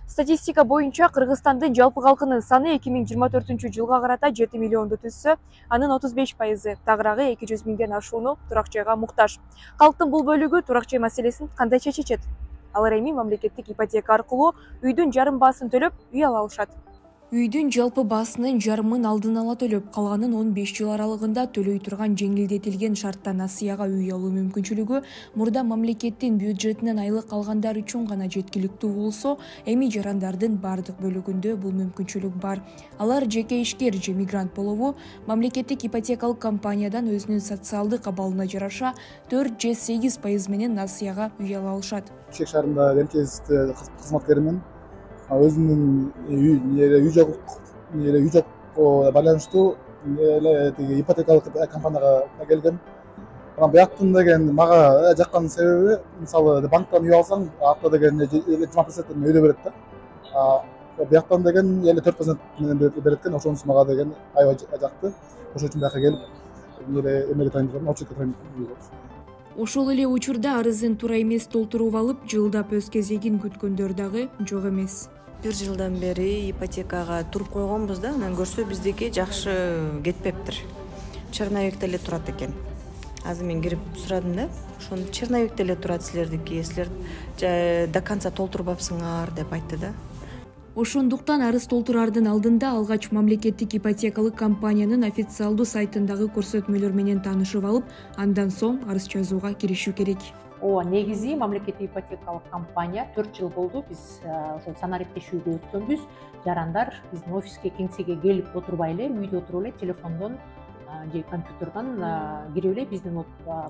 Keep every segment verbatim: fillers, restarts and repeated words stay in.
Статистика боюнча Кыргызстандын жалпы калкынын саны эки миң жыйырма төртүнчү жылга карата жети миллионду түзсө, анын отуз беш пайызы тагыраагы эки жүз миңден ашууну турак жайга муктаж. Калктын бул бөлүгү турак жай маселесин кандай чечет? Алар эми мамлекеттик ипотека аркылуу үйдүн жарым баасын төлөп үй ала алышат. Үйдүн жалпы баасынын жарымын алдын ала төлөп, калганын он беш жыл аралыгында төлөй турган жеңилдетилген шартта насыяга үй алуу мүмкүнчүлүгү мурда мамлекеттин бюджетинен айлык алгандар үчүн гана жеткиликтүү болсо, эми жарандардын бардык бөлүгүндө бул мүмкүнчүлүк бар. Алар жеке ишкер же мигрант болобу, мамлекеттик ипотекалык компаниядан өзүнүн социалдык абалына жараша төрт же сегиз пайыз менен насыяга үй ала алышат. Чек шаарында МЧС кызматкеримин. Өзүмдүн үй жок үй жокко байланыштуу эле тиги ипотекалык компанияга келгем. Анан бияктын деген мага жаккан себеби, мисалы банктан үй алсаң, акча деген жыйырма проценттен өйдө берет да. Бияктан деген эле төрт процент менен берет экен, ошонусу мага деген аябай жакты. Ошон үчүн бияка келип, эле эмеге тайындалдым, очередке тайындалдым. Ошол эле учурда арызын туура эмес толтуруп алып, жылдап өз кезегин күткөндөр дагы жок эмес. Бир жылдан бери ипотекага туруп койгонбуз да, анан көрсө биздики жакшы кетпептир. Черновикте эле турат экен. Азыр мен кирип сурадым да, ошону черновикте эле турат силердики, силер до конца толтурбапсыңар деп айтты да. Ошондуктан арыз толтурардын алдында алгач мамлекеттик ипотекалык компаниянын официалдуу сайтындагы көрсөтмөлөр менен таанышып алып, андан соң арыз жазууга киришүү керек. Ооба, негизи мамлекеттик ипотекалык компания төрт жыл болду биз ошол санариптешүүгө өткөнбүз. Жарандар биздин офиске, кеңсеге келип отурбай эле, үйдө отуруп эле телефондон же компьютердон кирип эле биздин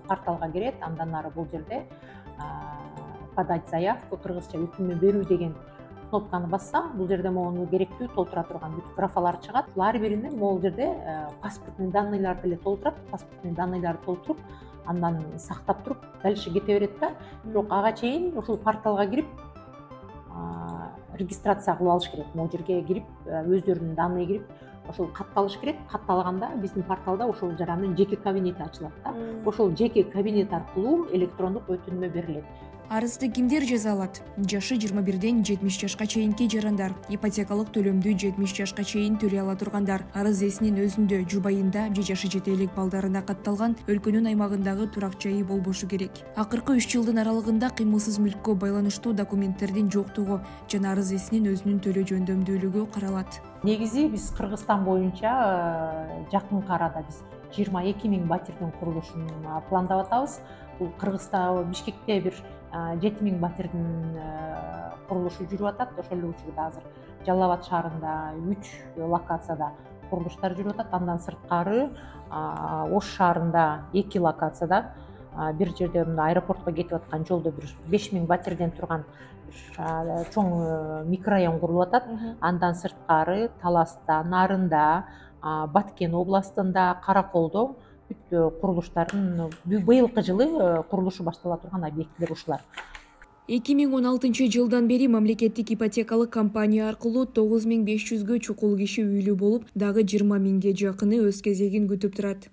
порталга кирет. Андан ары бул жерде подать заявку, кыргызча өтүнмө берүү деген кнопканы басса, бул жерде могу керектүү толтура турган бүт графалар чыгат. Ар биринде могул жерде паспортный данныйларды эле толтурат, паспортный данныйларды толтуруп, андан сактап туруп, дальше кете берет да. Бирок ага чейин ушул порталга кирип, регистрация кылып алыш керек. Могу жерге кирип, өздөрүнүн данные кирип, ошол катталыш керек. Катталганда биздин порталда ошол жарандын жеке кабинети ачылат да. Ошол жеке кабинет аркылуу электрондук өтүнмө берилет. Арызды кимдер жаза алат? Жашы жыйырма бирден жетимиш жашка чейинки жарандар, ипотекалык төлөмдү жетимиш жашка чейин төлөй ала тургандар, арыз ээсинин өзүндө, жубайында же жашы жете элек балдарына катталган өлкөнүн аймагындагы турак жайы болбошу керек. Акыркы үч жылдын аралыгында кыймылсыз мүлккө байланыштуу документтердин жоктугу жана арыз ээсинин өзүнүн төлөө жөндөмдүүлүгү каралат. Негизи биз Кыргызстан боюнча жакынкы арада биз жыйырма эки миң батирдин курулушун пландап атабыз. Бул Кыргызстан, Бишкекте бир жети миң батирдин курулушу жүрүп атат. Ошол эле учурда азыр Жалал абад шаарында үч локацияда курулуштар жүрүп атат. Андан сырткары Ош шаарында эки локацияда, бир жерде аэропортко кетип аткан жолдо бир беш миң батирден турган чоң микрорайон курулуп атат. Андан сырткары Таласта, Нарында, Баткен областында, Караколдо бүт курулуштардын быйылкы жылы курулушу баштала турган объектилер ушулар. эки миң он алтынчы жылдан бери мамлекеттик ипотекалык компания аркылуу тогуз миң беш жүзгө чукул киши үйлүү болуп, дагы жыйырма миңге жакыны өз кезегин күтүп турат.